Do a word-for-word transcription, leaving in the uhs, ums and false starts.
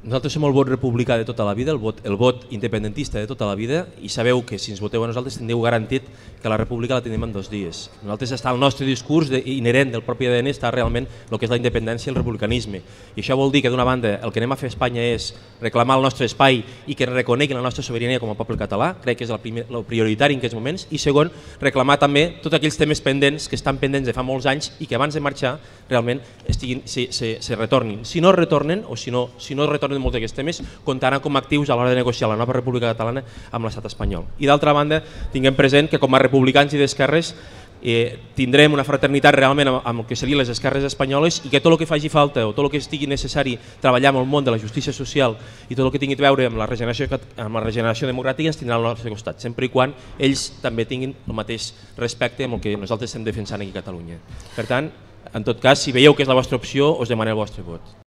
Nosaltres som el vot republicà de tota la vida, el vot, el vot independentista de tota la vida, i sabeu que si ens voteu a nosaltres tindreu garantit que la república la tenim en dos dies. Nosaltres està el nostre discurs de, inherent del propi A D N està realment el que és la independència i el republicanisme. I això vol dir que d'una banda el que anem a fer a Espanya és reclamar el nostre espai i que reconeguin la nostra sobirania com a poble català, crec que és el, primer, el prioritari en aquests moments, i segon, reclamar també tots aquells temes pendents que estan pendents de fa molts anys i que abans de marxar realment estiguin, se, se, se retornin. Si no retornen o si no, si no retornen molts d'aquests temes, comptaran com a actius a l'hora de negociar la nova república catalana amb l'estat espanyol. I d'altra banda, tinguem present que com a republicans i d'esquerres eh, tindrem una fraternitat realment amb, amb el que serien les esquerres espanyoles i que tot el que faci falta o tot el que estigui necessari treballar amb el món de la justícia social i tot el que tingui a veure amb la regeneració, amb la regeneració democràtica ens tindrà al nostre costat, sempre i quan ells també tinguin el mateix respecte amb el que nosaltres estem defensant aquí a Catalunya. Per tant, en tot cas, si veieu que és la vostra opció, us demanem el vostre vot.